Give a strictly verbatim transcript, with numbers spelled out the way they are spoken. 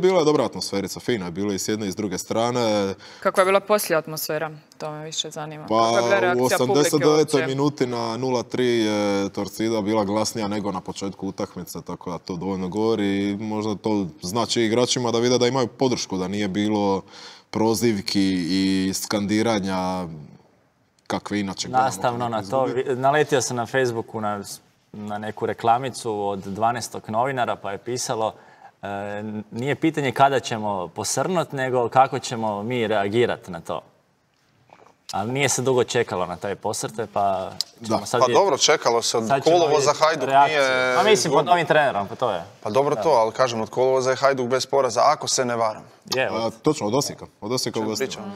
bila je dobra atmosferica, fina je bilo i s jedne i s druge strane. Kakva je bila poslije atmosfera? To me više zanima. Pa Kakva je bila reakcija u publike osamdeset devetoj uopće? minuti na nula tri je Torcida bila glasnija nego na početku utakmice, tako da to dovoljno govori i možda to znači igračima da vide da imaju podršku, da nije bilo prozivki i skandiranja kakve inače gledamo. Nastavno na to, naletio sam na Facebooku na, na neku reklamicu od dvanaestog novinara pa je pisalo e, nije pitanje kada ćemo posrnut, nego kako ćemo mi reagirati na to. Ali nije se dugo čekalo na taj posrte, pa ćemo Da. sad Pa vidjeti. dobro, čekalo se od Sad ćemo kolovoza vidjeti Hajduk reakciju. nije... Pa mislim, pod novim trenerom, pa to je. Pa dobro to, ali kažem, od kolovoza je Hajduk bez poraza, ako se ne varam. Je, A, točno, od Osijeka. Od Osijeka u gostima.